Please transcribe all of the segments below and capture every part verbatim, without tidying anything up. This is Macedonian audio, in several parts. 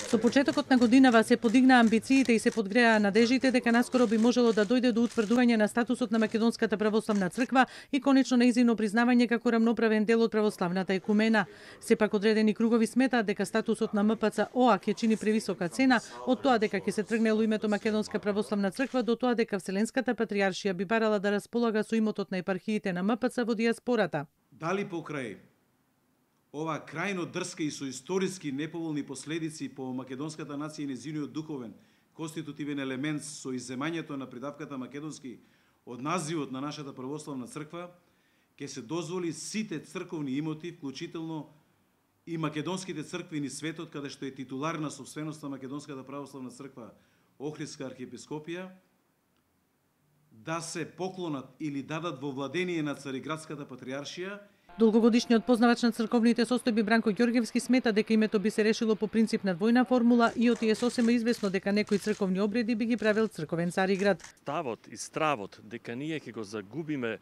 Со почетокот на годинава се подигнаа амбициите и се подгреаа надежите дека наскоро би можело да дојде до утврдување на статусот на Македонската православна црква и конечно нејзино признавање како рамноправен дел од православната екумена. Сепак одредени кругови сметаат дека статусот на М П Ц О А ќе чини превисока цена од тоа дека ќе се тргне во името Македонска православна црква до тоа дека Вселенската патријаршија би барала да располага со имотот на епархиите на М П Ц во дијаспората. Дали покрај ова крајно дрска и со историски неповолни последици по македонската нација и незиниот духовен конститутивен елемент со изземањето на придавката македонски од називот на нашата православна црква, ќе се дозволи сите црковни имоти, вклучително и македонските цркви низ светот, каде што е титулар на собственост на Македонската православна црква Охридска архиепископија, да се поклонат или дадат во владение на Цариградската патријаршија. Долгогодишниот познавач на црковните состојби Бранко Ѓорѓевски смета дека името би се решило по принцип на двојна формула и оти е сосема известно дека некои црковни обреди би ги правил црковен Цариград. Ставот и стравот дека ние ќе го загубиме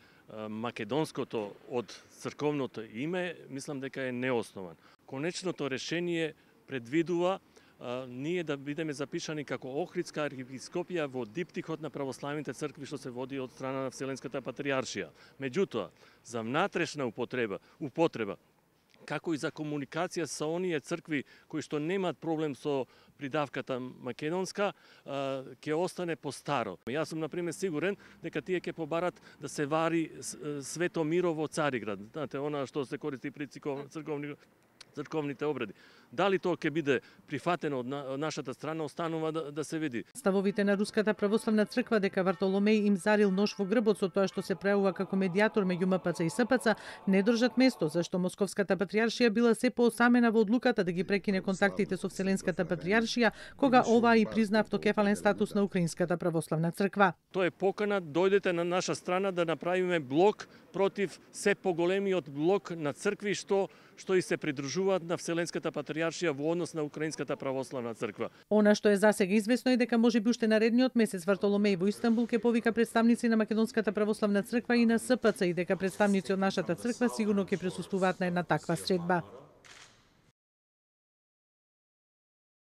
македонското од црковното име, мислам дека е неоснован. Конечното решение предвидува Uh, ние да бидеме запишани како Охридска архиепископија во диптихот на православните цркви што се води од страна на Вселенската патријаршија. Меѓутоа, за внатрешна употреба, употреба, како и за комуникација со оние цркви кои што немаат проблем со придавката македонска, ќе остане по старо. Јас сум, например, сигурен дека тие ќе побарат да се вари Свето Миро во Цариград. Знаете, она што се користи при црковни црковните обреди. Дали тоа ќе биде прифатено од нашата страна, останува да, да се види. Ставовите на Руската православна црква дека Вартоломеј им зарил нож во грбот со тоа што се правува како медијатор меѓу М П Ц и С П Ц, не држат место, зашто Московската патријаршија била се поосамена во одлуката да ги прекине контактите со Вселенската патријаршија, кога оваа и призна автокефален статус на Украинската православна црква. Тоа е покана, дојдете на наша страна да направиме блок против се поголемиот блок на цркви што што и се придружуваат на Вселенската патријаршија во однос на Украинската православна црква. Она што е засега известно е дека можеби уште наредниот месец Вартоломеј во Истанбул ќе повика представници на Македонската православна црква и на С П Ц и дека представници од нашата црква сигурно ќе присуствуваат на една таква средба.